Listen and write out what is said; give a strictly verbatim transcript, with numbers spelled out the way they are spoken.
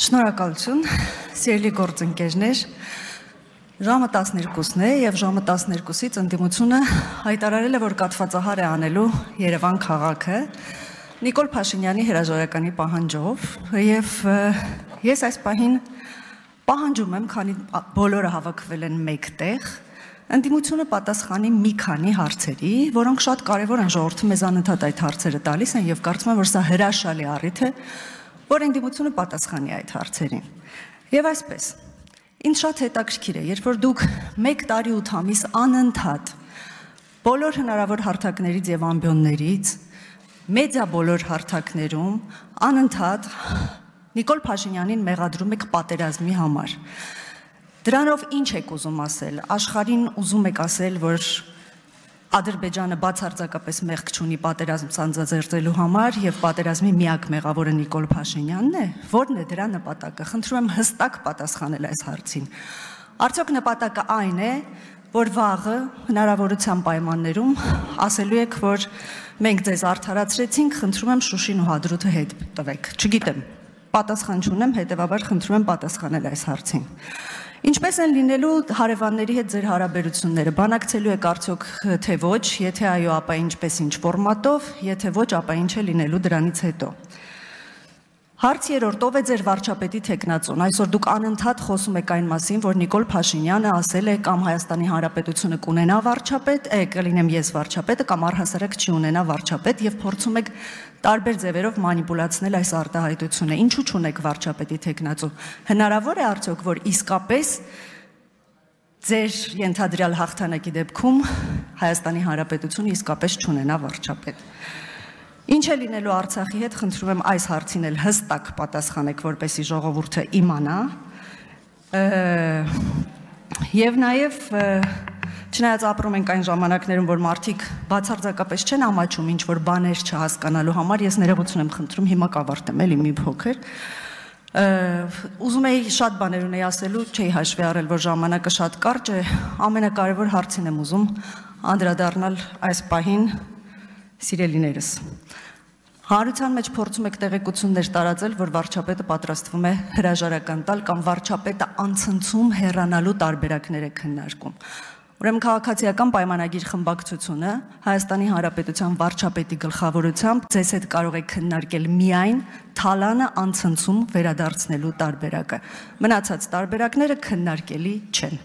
Շնորհակալություն, սիրելի գործընկերներ, ժամը տասներկուսն է և ժամը տասներկուսից ընդդիմությունը հայտարարել է, որ կաթվածահար է անելու Երևան քաղաքը Նիկոլ Փաշինյանի հրաժարականի պահանջով և ես այս պահին պահանջում եմ, քանի բոլորը հավաքվել են մեկտեղ, ընդդիմությունը պատասխանի մի քանի հարցերի, որոնք շատ կարևոր են, ժողովուրդը մեզ անընդհատ այդ հարցերը տալիս են և կարծում եմ, որ սա հրաշալի առիթ է, որ ընդդիմությունը պատասխանի այդ հարցերին։ Եվ այսպես, ինձ շատ հետաքրքիր է, երբ որ դուք մեկ տարի ութ ամիս անընդհատ բոլոր հնարավոր հարթակներից և ամբիոններից, մեդիա բոլոր հարթակներում, անընդհատ Նիկոլ Փաշինյանին մեղադրում եք պատերազմի համար։ Դրանով ինչ եք ուզում ասել, աշխարհին ուզում եք ասել, որ Ադրբեջանը բացարձակապես մեղք չունի պատերազմ սանձազերծելու համար և պատերազմի միակ մեղավորը Նիկոլ Փաշինյանն է, որն է դրա նպատակը, խնդրում եմ հստակ պատասխանել այս հարցին։ Արդյոք նպատակը այն է, որ վաղը հնարավորության պայմաններում ասելու եք, որ մենք ձեզ արդարացրեցինք, խնդրում եմ Շուշին ու Հադրութը հետ տվեք, չգիտեմ, պատասխան չունեմ, հետևաբար խնդրում եմ պատասխանել այս հարցին։ Ինչպես են լինելու հարևանների հետ ձեր հարաբերությունները, բանակցելու եք արդյոք թե ոչ, եթե այո, ապա ինչպես ինչ ֆորմատով, եթե ոչ, ապա ինչ է լինելու դրանից հետո։ Հարց երրորդ, ով է ձեր վարչապետի թեկնածուն, այսօր դուք անընդհատ խոսում եք այն մասին, որ Նիկոլ Փաշինյանը ասել է կամ Հայաստանի Հանրապետությունը կունենա վարչապետ, կլինեմ ես վարչապետը կամ առհասարակ չի ունենա վարչապետ և փորձում եք տարբեր ձևերով մանիպուլացնել այս արտահայտությունը, ինչու չունեք վարչապետի թեկնածու, հնարավոր է արդյոք, որ իսկապես ձեր ենթադրյալ հաղթանակի դեպքում Հայաստանի Հանրապետությունը իսկապես չունենա վարչապետ։ Ինչ է լինելու Արցախի հետ, խնդրում եմ այս հարցին էլ հստակ պատասխանեք, որպեսզի ժողովուրդը իմանա։ Եվ նաև չնայած ապրում ենք այն ժամանակներում, որ մարդիկ բացարձակապես չեն ամաչում ինչ-որ բաներ չհասկանալու համար, ես ներողություն եմ խնդրում, հիմա կավարտեմ էլի մի փոքր։ Ուզում էի շատ բաներ ունեի ասելու, չէի հաշվի առել, որ ժամանակը շատ կարճ է, ամենակարևոր հարցին եմ ուզում անդրադառնալ այս պահին, սիրելիներս։ Հանրության մեջ փորձում եք տեղեկություններ տարածել, որ վարչապետը պատրաստվում է հրաժարական տալ կամ վարչապետը անցնցում հեռանալու տարբերակներ է քննարկում։ Ուրեմն քաղաքացիական պայմանագիր խմբակցությունը Հայաստանի Հանրապետության վարչապետի գլխավորությամբ ձեզ հետ կարող է քննարկել միայն թալանը անցնցում վերադարձնելու տարբերակը։ Մնացած տարբերակները քննարկելի չեն։